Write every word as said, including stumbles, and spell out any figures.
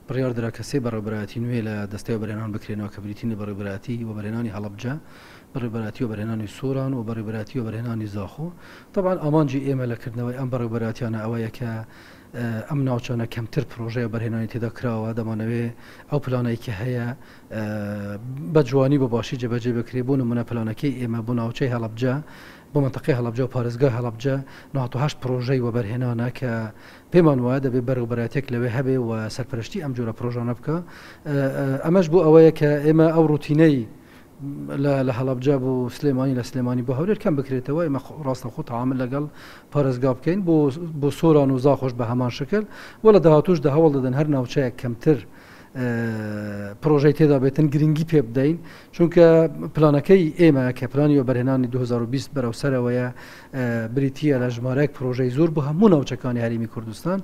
بڕیار درا کە سێ بەڕێوەبەرایەتی نوێ لە دەستەی وەبەرهێنان بکرێنەوە کە بریتین لە بەڕێوەبەرایەتی وەبەرهێنانی هەڵەبجە، بەڕێوەبەرایەتی وەبەرهێنانی سۆران و بەڕێوەبەرایەتی وەبەرهێنانی زاخۆ. تەبعەن ئامانجی ئێمە لە کردنەوەی ئەم بەڕێوەبەرایەتیانە ئەوەیە کە ئەم ناوچانە کەمتر پرۆژەی وەبەرهێنانی تێدا کراوە، دەمانەوێ ئەو پلانەی کە هەیە بە جوانی بە باشی جێبەجێ بکرێ. بۆ نمونە پلانەکەی ئێمە بۆ ناوچەی هەڵەبجە، بۆ منطقەی هەڵەبجە و پارێزگای هەڵەبجە نەوەد و هەشت پرۆژەی وەبەرهێنانە کە پێمان وایە دەبێت بەڕێوەبەرایەتێک لەوێ هەبێ و سەرپەرشتی ئەم جۆرە پرۆژانە بکە. ئەمەش بۆ ئەوەیە کە ئێمە ئەو ڕوتینەی لە هەڵەبجە بۆ سلێمانی، لە سلێمانی بۆ هەولێر کەم بکرێتەوە، ئێمە ڕاستەوخۆ تەعامل لەگەڵ پارێزگا بکەین بۆ سۆران و زاخۆش بە هەمان شکل و لە داهاتووشدا هەوڵ دەدەن هەر ناوچەیەک کەمتر پرۆژەی تێدا بێتن گرنگی پێ بدەین، چونکە پلانەکەی ئێمە کە پلانی وەبەرهێنانی دوو هەزار و بیست بەرەو سەرەوەیە بریتییە لە ژمارەیەک پرۆژەی زۆر بۆ هەموو ناوچەکانی هەرێمی کوردستان.